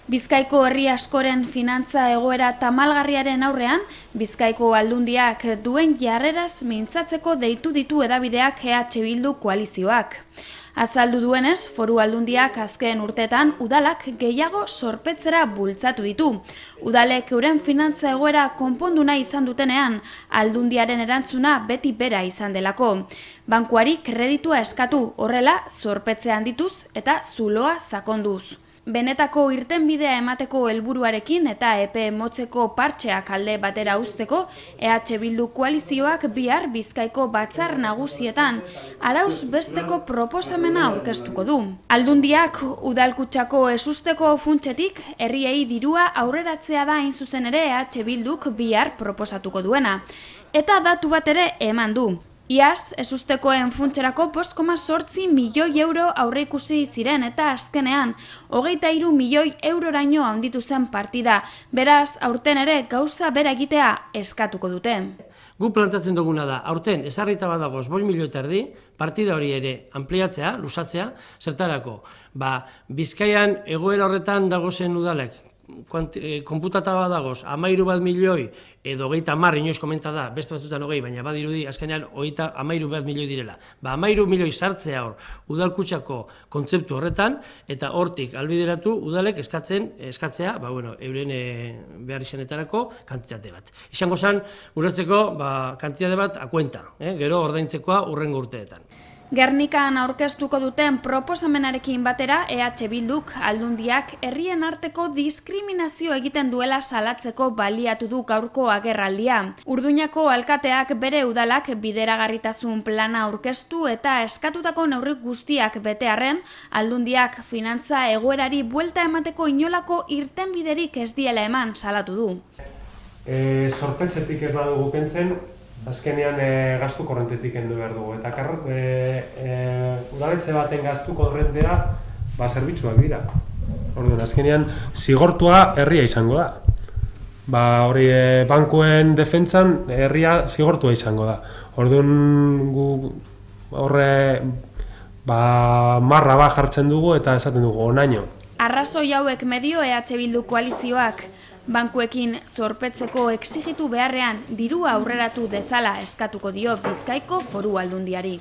Bizkaiko herri askoren finantza egoera tamalgarriaren aurrean, Bizkaiko Aldundiak duen jarreraz mintzatzeko deitu ditu hedabideak EH Bildu koalizioak. Azaldu duenez, Foru Aldundiak azken urteetan udalak gehiago zorpetzera bultzatu ditu. Udalek euren finantza egoera konpondu nahi izan dutenean, Aldundiaren erantzuna beti bera izan delako. Bankuari kreditua eskatu, horrela zorpetzea handituz eta zuloa sakonduz. Benetako irtenbidea emateko helburuarekin eta epe motzeko partxeak alde batera uzteko, EH Bildu koalizioak bihar Bizkaiko batzar nagusietan arauz besteko proposamena aurkeztuko du. Aldundiak udalkutsako esusteko funtsetik herriei dirua aurreratzea da hain zuzen ere EH Bilduk bihar proposatuko duena. Eta datu bat ere eman du. Iaz, esustekoen funtserako 5,8 milioi euro aurreikusi ziren eta azkenean 23 milioi euroraino handitu zen partida. Beraz, aurten ere gauza bera egitea eskatuko dute. Gu plantatzen duguna da, aurten ezarrita badagoz 5 milioi eta erdi, partida hori ere ampliatzea, lusatzea, zertarako. Bizkaian egoera horretan dagozen udalek, konputata badagoz, 13 milioi edo 30, inoiz komenta da, beste batzutan 20, baina badirudi azkenean 13 milioi direla. 13 milioi sartzea hor, udalkutsako kontzeptu horretan, eta hortik albideratu udalek eskatzea, euren behar izanetarako kantitate bat. Izango zen, ulertzeko, kantitate bat akuenta, gero ordaintzekoa hurrengo urteetan. Gernikan aurkeztuko duten proposamenarekin batera, EH Bilduk Aldundiak herrien arteko diskriminazio egiten duela salatzeko baliatu du gaurko agerraldia. Urduñako alkateak bere udalak bideragarritasun plana aurkeztu eta eskatutako neurri guztiak betearren, Aldundiak finantza egoerari buelta emateko inolako irtenbiderik ez diela eman salatu du. Zorpetzetik ez badugu kentzen, azkenean gastu korrentetik kendu behar dugu. Eta udaletxe baten gastu korrentea zerbitzuak dira. Orduan, azkenean zigortua herria izango da. Hori bankuen defentsan herria zigortua izango da. Orduan, gu horre marra jartzen dugu eta esaten dugu onaino. Arrazoi hauek medio EH Bildu koalizioak bankuekin zorpetzeko exigitu beharrean dirua aurreratu dezala eskatuko dio Bizkaiko Foru Aldundiari.